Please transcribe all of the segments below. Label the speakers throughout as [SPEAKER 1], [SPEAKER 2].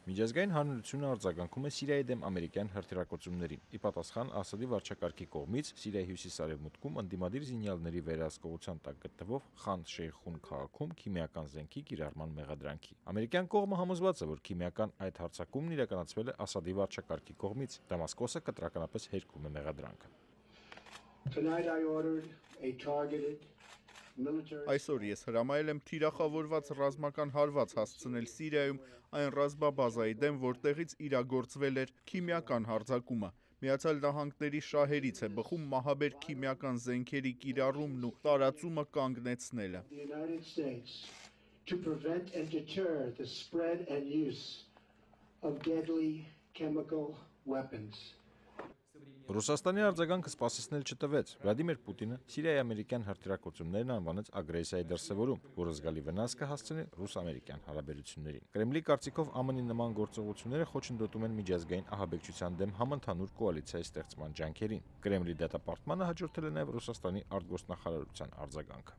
[SPEAKER 1] Միջազգային հանրությունը արձագանքում է Սիրիայի դեմ ամերիկյան հրթիռակոծումներին։ Ի պատասխան Ասադի վարչակարգի կողմից Սիրիայի հյուսիս-արևմուտքում ընդդիմադիր զինյալների վերահսկողության տակ գտնվող Խան Շեյխուն քաղաքում քիմիական զենքի կիրառման մեղադրանքի։ Ամերիկյան կողմը համոզված է, որ քիմիական այդ հարձակումն իրականացվել է Ասադի վարչակարգի կողմից։ Դամասկոսը կտրականապես հերքում է մեղադրանքը։
[SPEAKER 2] Այսօր ես հրամայել եմ թիրախավորված ռազմական հարված հասցնել Սիրիայում այն ռազմաբազայի դեմ, որտեղից իրագործվել էր քիմիական հարձակումը։ Միացյալ Նահանգների շահերից է բխում մահաբեր քիմիական զենքերի կիրառումն ու տարածումը կանգնեցնելը։
[SPEAKER 1] Ռուսաստանի արձագանքը սպասեցնել չտվեց։ Վլադիմիր Պուտինը Սիրիայի ամերիկյան հրթիռակոծումներն անվանեց ագրեսիայի դրսևորում, որը զգալի վնաս կհասցնի ռուս-ամերիկյան հարաբերություններին։ Կրեմլի կարծիքով ԱՄՆ-ի նման գործողությունները խոչընդոտում են միջազգային ահաբեկչության դեմ համընդհանուր կոալիցիայի ստեղծման ջանքերին։ Կրեմլի դատապարտմանը հաջորդել է նաև Ռուսաստանի արտգործնախարարության արձագանքը։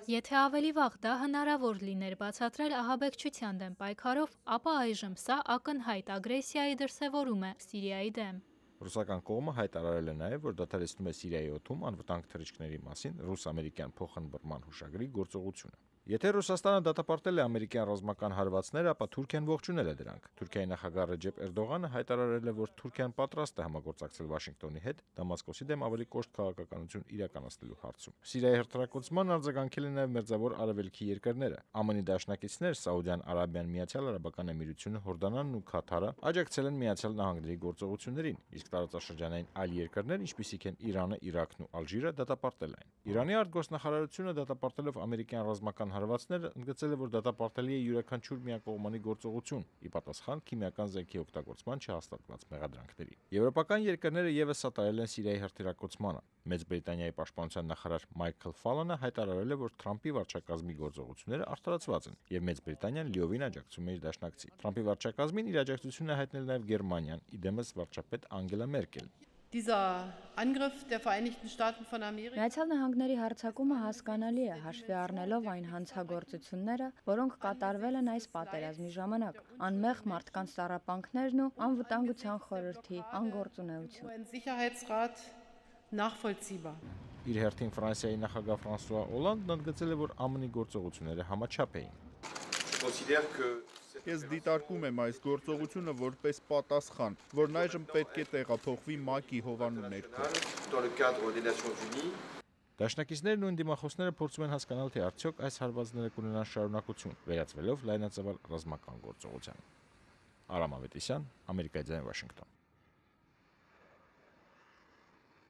[SPEAKER 3] Եթե ավելի վաղ դա հնարավոր լիներ բացատրել ահաբեկչության դեմ պայքարով, ապա այժմ սա ակնհայտ ագրեսիայի դրսևորում է Սիրիայի դեմ։
[SPEAKER 1] Ռուսական կողմը հայտարարել է նաև, որ դադարեցնում է Սիրիայի օդում անվտանգ թռիչքների մասին ռուս-ամերիկյան փոխըմբռնման հուշագրի գործողությունը։ Եթե Ռուսաստանը դատապարտել է ամերիկյան ռազմական հարվածները, ապա Թուրքիան ողջունել է դրանք։ Թուրքիայի նախագահ Ռեջեփ Էրդողանը հայտարարել է, որ Թուրքիան պատրաստ է համագործակցել Վաշինգտոնի հետ Դամասկոսի դեմ ավելի կոշտ քաղաքականություն իրականացնելու հարցում։ Սիրիայի հրթիռակոծման արձագանքել են նաև Մերձավոր Արևելքի երկրները։ ԱՄՆ-ի դաշնակիցներ Սաուդյան Արաբիան, Միացյալ Արաբական Էմիրությունները, Հորդանանն ու Քաթարը աջակցել են Միացյալ Նահանգների գործողություններին, իսկ տարածաշրջանային այլ երկրներ, ինչպիսիք են Իրանը, Իրաքն ու Ալժիրը, դատապարտել են։ Իրանի արտգործնախարարությունը դատապարտելով ամերիկյան ռազմական հարվածները ընդգծել է, որ դատապարտելի է յուրաքանչյուր միակողմանի գործողություն՝ ի պատասխան քիմիական զենքի օգտագործման չհաստատված մեղադրանքների։ Եվրոպական երկրները ևս սատարել են Սիրիայի հրթիռակոծմանը։ Մեծ Բրիտանիայի պաշտպանության նախարար Մայքլ Ֆալանը հայտարարել է, որ Թրամփի վարչակազմի գործողությունները արդարացված են, եւ Մեծ Բրիտանիան լիովին աջակցում է իր դաշնակցին։ Թրամփի վարչակազմին իր աջակցությունն է հայտնել նաև Գերմանիան, իդեմս վարչապետ Անգելա Մերկել։
[SPEAKER 4] Միացյալ Նահանգների հարձակումը հասկանալի է, հաշվի առնելով այն հանցագործությունները, որոնք կատարվել են այս պատերազմի ժամանակ, անմեղ մարդկանց տառապանքներն ու անվտանգության խորհրդի անգործունեություն։
[SPEAKER 1] Իր հերթին Ֆրանսիայի նախագահ Ֆրանսուଆ Օլանդն ընդգծել է, որ ԱՄՆ-ի գործողությունները համաչափ էին։
[SPEAKER 2] Ես դիտարկում եմ այս գործողությունը որպես պատասխան, որն այժմ պետք է տեղափոխվի ՄԱԿ-ի հովանու ներքո։
[SPEAKER 1] Դաշնակիցներն ու ընդդիմախոսները փորձում են հասկանալ, թե արդյոք այս հարվածները կունենան շարունակություն, վերածվելով լայնածավալ ռազմական գործողության։ Արամ Ավետիսյան, Ամերիկայի ձայն, Վաշինգտոն։